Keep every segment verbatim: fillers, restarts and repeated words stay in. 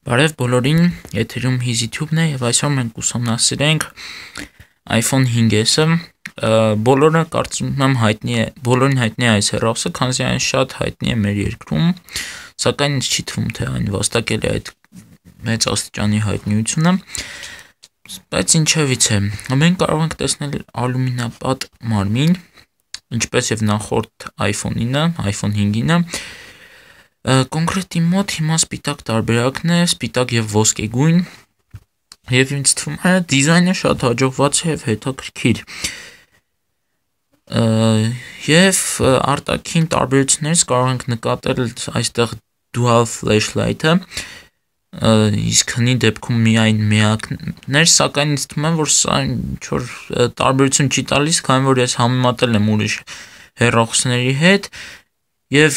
Բարև բոլորին, եթերում HizTube-ն է եւ այսօր մենք ուսումնասիրենք iPhone five S-ը։ Բոլորը կարծում եմ հայտնի է, բոլորին հայտնի է այս հեռախոսը, քանզի այն շատ հայտնի է մեր երկրում, սակայն ինձ չի թվում, թե այն վաստակել է այդ մեծ աստիճանի հայտնիությունը։ Բայց ինչևից է, մենք կարող ենք տեսնել ալյումինապատ մարմին, ինչպես եւ նախորդ iPhone-ինը, iPhone five-ինը։ Կոնկրետ իմ մոտ հիմա սպիտակ տարբերակն է, սպիտակ եւ ոսկեգույն, եւ ինձ թվում է դիզայնը շատ հաջողված է եւ հետաքրքիր։ Եվ արտաքին տարբերություններից կարող ենք նկատել այստեղ dual flashlight-ը, իսկ հնի դեպքում միայն միակներ, սակայն ինձ թվում է, որ սա ինչ-որ տարբերություն չի տալիս, քանի որ ես համեմատել եմ ուրիշ հեռախոսների հետ, եւ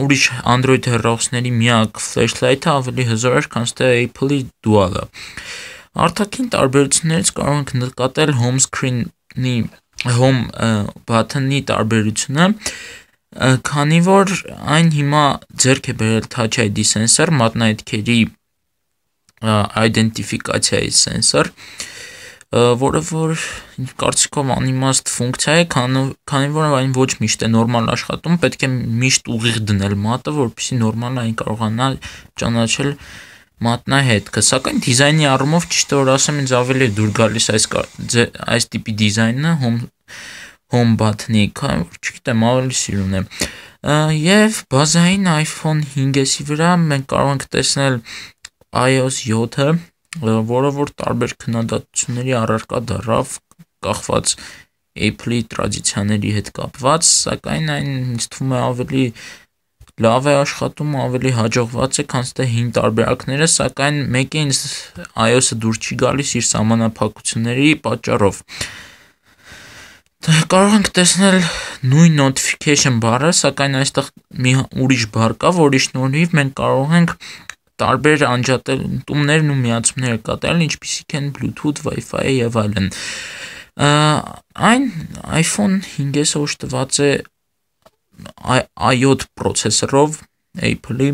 ուրիշ Android հեռախոսների միակ flashlight-ը ավելի հզոր էր, քան թե Apple-ի Dual-ը։ Արտաքին տարբերություններից կարող ենք նկատել home screen-ի home button-ի տարբերությունը, քանի որ այն հիմա ձեռք է բերել Touch I D sensor, մատնահետքերի identification sensor, որը որ կարծիքով անիմաստ ֆունկցիա է, քանի որ այն ոչ միշտ է նորմալ աշխատում, պետք է միշտ ուղիղ դնել մատը, որպեսզի նորմալ այն կարողանա ճանաչել մատնահետքը, սակայն դիզայնի առումով ճիշտ որ ասեմ, ինձ ավելի է դուր գալիս այս այս տիպի դիզայնը home home button-ի, քանի որ չգիտեմ, ավելի սիրուն է։ Եվ բազային iPhone five S-ի վրա մենք կարող ենք տեսնել iOS seven-ը, որը որ տարբեր քննադատությունների առարկա դառավ, կախված Apple-ի տրադիցիաների հետ կապված, սակայն այն ինձ թվում է ավելի լավ է աշխատում, ավելի հաջողված է, քան թե հին տարբերակները, սակայն մեկը ինձ iOS-ը դուր չի գալիս իր սահմանափակությունների պատճառով։ Կարող ենք տեսնել նույն notification բառը, սակայն այստեղ մի ուրիշ բառ կա, որի շնորհիվ մենք կարող ենք տարբեր անջատումներն ու միացումները կատարել, ինչպիսիք են Bluetooth, Wi-Fi եւ այլն։ Այն iPhone five S-ը օժտված է i seven պրոցեսորով, Apple-ի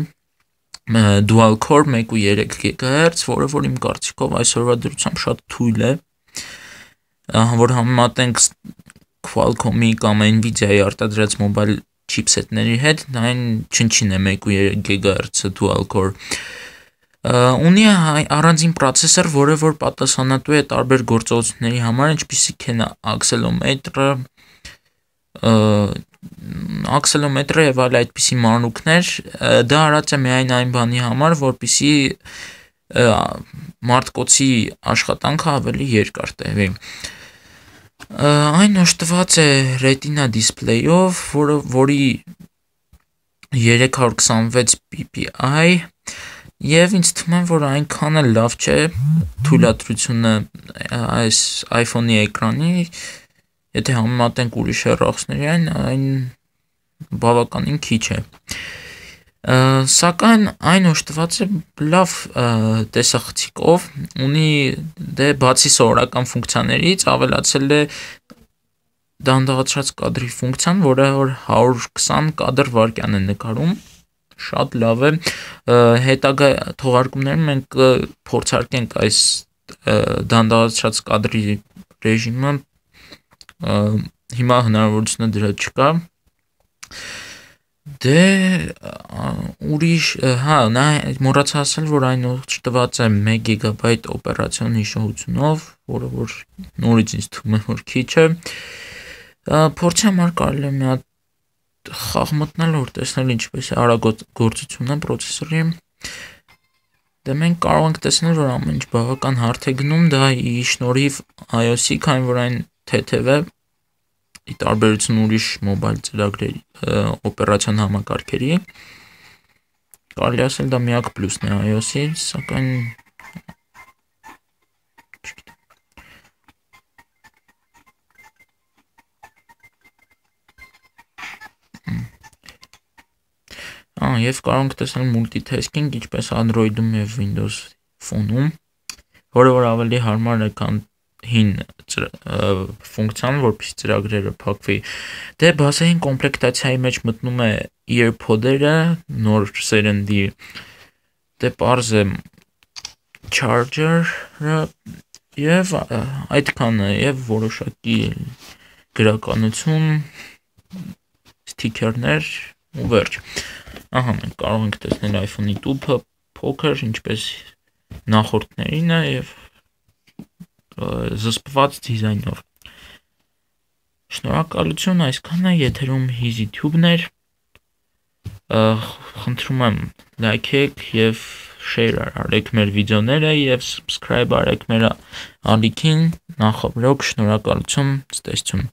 dual core one point three gigahertz, որը որ իմ կարծիքով այսօրվա դրությամբ շատ թույլ է, որ համեմատենք Qualcomm-ի կամ Nvidia-ի արտադրած mobile chipset-ների հետ, այն չնչին է one point three gigahertz dual core։ Ունի առանձին պրոցեսոր, որը որ պատասխանատու է տարբեր գործողությունների համար, ինչպիսիք են accelerometer-ը, accelerometer-ը եւ այլ այդպիսի մանրուքներ, դա արած է միայն այն բանի համար, որպեսզի մարտկոցի աշխատանքը ավելի երկար տևի։ Այն օժտված է Retina display-ով, որը որի three twenty-six P P I, եւ ինձ թվում է, որ այնքան էլ լավ չէ թույլատրությունը այս iPhone-ի էկրանի, եթե համեմատենք ուրիշ հեռախոսների, այն այն բավականին քիչ է։ Սակայն այն օժտված է լավ տեսախցիկով, ունի դե բացի սովորական ֆունկցիաներից ավելացել է դանդաղացրած կադրի ֆունկցիան, որը որ one twenty կադր վայրկյան է նկարում, շատ լավ է։ Հետագա թողարկումներում մենք փորձարկենք այս դանդաղացրած կադրի ռեժիմը, հիմա հնարավորությունը դրա չկա։ Դե ուրիշ, հա, նա մոռացա ասել, որ այն օժտված է one gigabyte օպերացիոն հիշողությունով, որը որ նորից ինձ թվում է, որ քիչ է։ Փորձի համար կարելի է մի հատ խաղ մտնել, որ տեսնել ինչպես է արագագործությունը պրոցեսորի։ Դե մենք կարող ենք տեսնել, որ ամեն ինչ բավական հարթ է գնում, դա ի շնորհիվ iOS-ի, քանի որ այն թեթև է, ի տարբերություն ուրիշ մոբայլ ծրագրերի օպերացիոն համակարգերի, կարելի ասել դա միակ պլյուսն է iOS-ի, սակայն Ահա, եւ կարող ենք տեսնել multitasking, ինչպես Android-ում եւ Windows Phone-ում, որը որ ավելի հարմար է, քան հին ֆունկցիան, որպեսզի ծրագրերը փակվի։ Դե բազային կոմպլեկտացիայի մեջ մտնում է earpod-երը, նոր սերնդի դե պարզ է charger-ը եւ այդքանը եւ որոշակի գրականություն, սթիքերներ ու վերջ։ Ահա մենք կարող ենք տեսնել iPhone-ի տուփը փոքր, ինչպես նախորդներինը եւ զսպված դիզայնով։ Շնորհակալություն, այսքանը, եթերում HiziTube-ն էր, խնդրում եմ լայքեք եւ share արեք մեր վիդեոները եւ subscribe արեք մեր ալիքին, նախաբրոք, շնորհակալություն, ցտեսություն։